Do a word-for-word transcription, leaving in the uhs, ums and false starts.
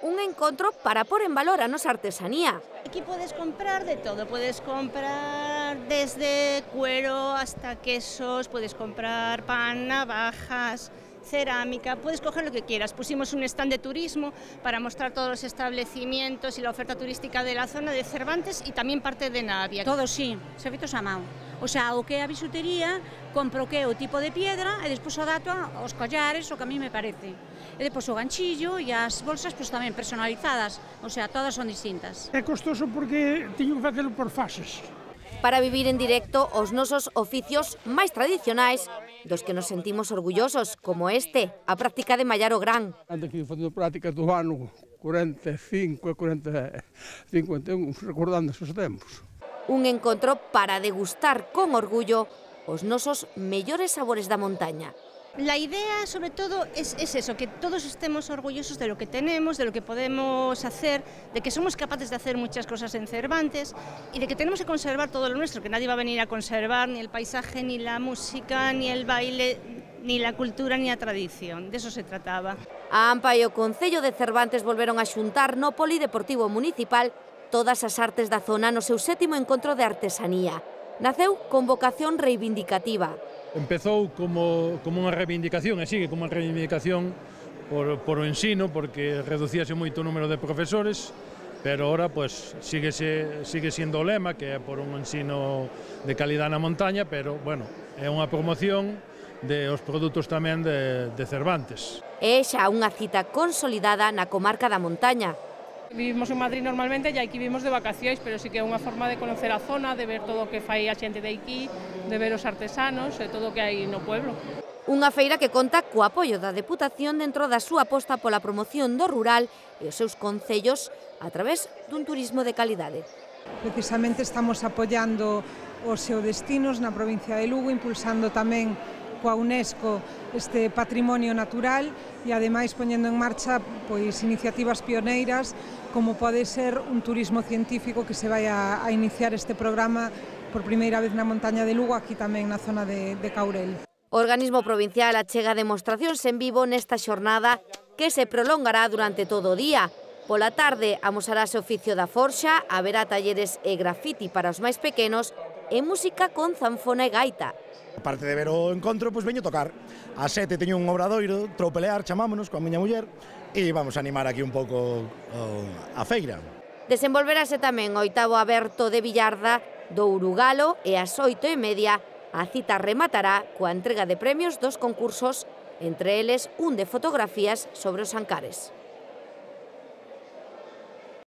Un encontro para pôr en valor a nosa artesanía. Aquí puedes comprar de todo, puedes comprar desde cuero hasta quesos, puedes comprar pan, navajas, cerámica, puedes coger lo que quieras. Pusimos un stand de turismo para mostrar todos los establecimientos y la oferta turística de la zona de Cervantes y tamén parte de Navia. Todo sí, servizos a mão. O sea, o que é a bisutería, compro o que é o tipo de piedra e despois o dato aos collares, o que a mí me parece. E despois o ganchillo e as bolsas pois, tamén personalizadas, o sea, todas son distintas. É costoso porque teño que facelo por fases. Para vivir en directo os nosos oficios máis tradicionais, dos que nos sentimos orgullosos, como este, a práctica de mallar o gran. Ando aquí facendo prácticas do ano cuarenta e cinco e cuarenta, cincuenta e un, recordando esos tempos. Un encontro para degustar con orgullo os nosos mellores sabores da montaña. La idea, sobre todo, es, es eso, que todos estemos orgullosos de lo que tenemos, de lo que podemos hacer, de que somos capaces de hacer muchas cosas en Cervantes y de que tenemos que conservar todo lo nuestro, que nadie va a venir a conservar ni el paisaje, ni la música, ni el baile, ni la cultura, ni la tradición. De eso se trataba. A AMPA e o Concello de Cervantes volveron a xuntar no Polideportivo Municipal todas as artes da zona no seu sétimo encontro de artesanía. Naceu con vocación reivindicativa. Empezou como, como unha reivindicación e sigue como unha reivindicación por, por o ensino, porque reducíase moito o número de profesores, pero ahora pues, sigue, sigue sendo o lema, que é por un ensino de calidad na montaña, pero bueno, é unha promoción de os produtos tamén de, de Cervantes. É xa unha cita consolidada na comarca da montaña. Vivimos en Madrid normalmente e aquí vivimos de vacacións, pero sí que é unha forma de conocer a zona, de ver todo o que fai a xente de aquí, de ver os artesanos e todo o que hai no pueblo. Unha feira que conta co apoio da Deputación dentro da súa aposta pola promoción do rural e os seus concellos a través dun turismo de calidade. Precisamente estamos apoiando os geodestinos na provincia de Lugo, impulsando tamén coa UNESCO este patrimonio natural e ademais poñendo en marcha pois iniciativas pioneiras como pode ser un turismo científico que se vai a, a iniciar este programa por primeira vez na montaña de Lugo, aquí tamén na zona de, de Caurel. O organismo provincial achega demostracións en vivo nesta xornada que se prolongará durante todo o día. Pola tarde amosarase o oficio da forxa, haberá talleres e grafiti para os máis pequenos e música con zanfona e gaita. Aparte de ver o encontro, pois veño tocar. A sete teño un obradoiro, tropelear, chamámonos, coa miña muller, e vamos a animar aquí un pouco a feira. Desenvolverase tamén o oitavo aberto de Villarda do Urugalo e ás oito e media a cita rematará coa entrega de premios dos concursos, entre eles un de fotografías sobre os Ancares.